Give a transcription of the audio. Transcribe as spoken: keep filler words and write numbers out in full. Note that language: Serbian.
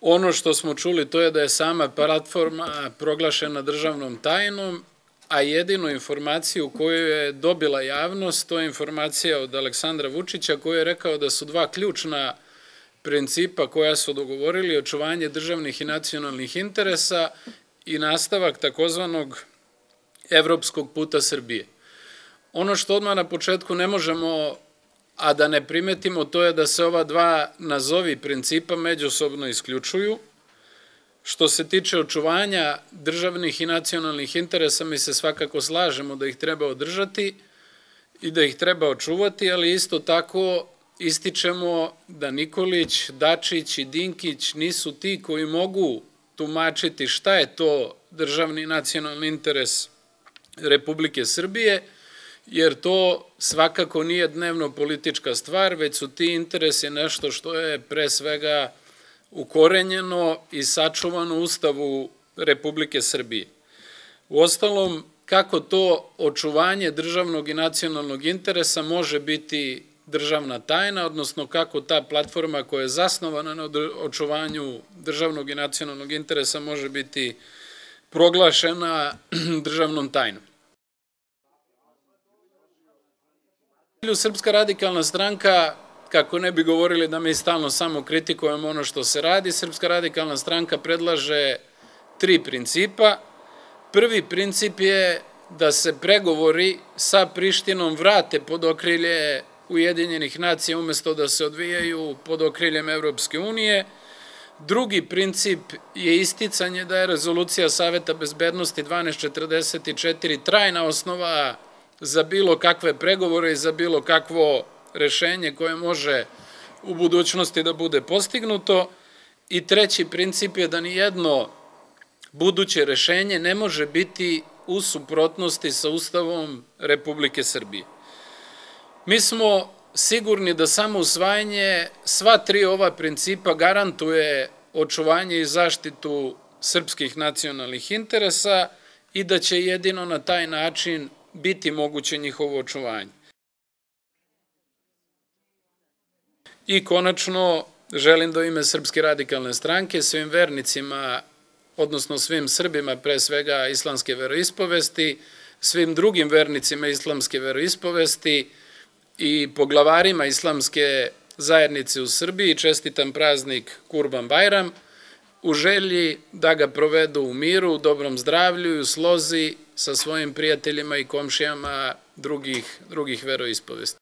Ono što smo čuli to je da je sama platforma proglašena državnom tajnom, a jedinu informaciju koju je dobila javnost, to je informacija od Aleksandra Vučića koji je rekao da su dva ključna principa koja su dogovorili očuvanje državnih i nacionalnih interesa i nastavak takozvanog evropskog puta Srbije. Ono što odmah na početku ne možemo, a da ne primetimo, to je da se ova dva nazovi principa međusobno isključuju. Što se tiče očuvanja državnih i nacionalnih interesa, mi se svakako slažemo da ih treba održati i da ih treba očuvati, ali isto tako ističemo da Nikolić, Dačić i Dinkić nisu ti koji mogu tumačiti šta je to državni i nacionalni interes Republike Srbije, jer to svakako nije dnevno politička stvar, već su ti interesi nešto što je pre svega ukorenjeno i sačuvano u Ustavu Republike Srbije. Uostalom, kako to očuvanje državnog i nacionalnog interesa može biti državna tajna, odnosno kako ta platforma koja je zasnovana na očuvanju državnog i nacionalnog interesa može biti proglašena državnom tajnom. Srpska radikalna stranka, kako ne bi govorili da mi stalno samo kritikujemo ono što se radi, Srpska radikalna stranka predlaže tri principa. Prvi princip je da se pregovori sa Prištinom vrate pod okrilje Ujedinjenih nacija umesto da se odvijaju pod okriljem Evropske unije. Drugi princip je isticanje da je rezolucija Saveta bezbednosti dvanaest četrdeset četiri trajna osnova za bilo kakve pregovore i za bilo kakvo rešenje koje može u budućnosti da bude postignuto. I treći princip je da nijedno buduće rešenje ne može biti u suprotnosti sa Ustavom Republike Srbije. Mi smo sigurni da samo usvajanje sva tri ova principa garantuje očuvanje i zaštitu srpskih nacionalnih interesa i da će jedino na taj način biti moguće njihovo očuvanje. I konačno, želim da u ime Srpske radikalne stranke svim vernicima, odnosno svim Srbima, pre svega islamske veroispovesti, svim drugim vernicima islamske veroispovesti i poglavarima islamske zajednice u Srbiji čestitam praznik Kurban Bajram u želji da ga provedu u miru, u dobrom zdravlju i u slozi sa svojim prijateljima i komšijama drugih, drugih veroispovesti.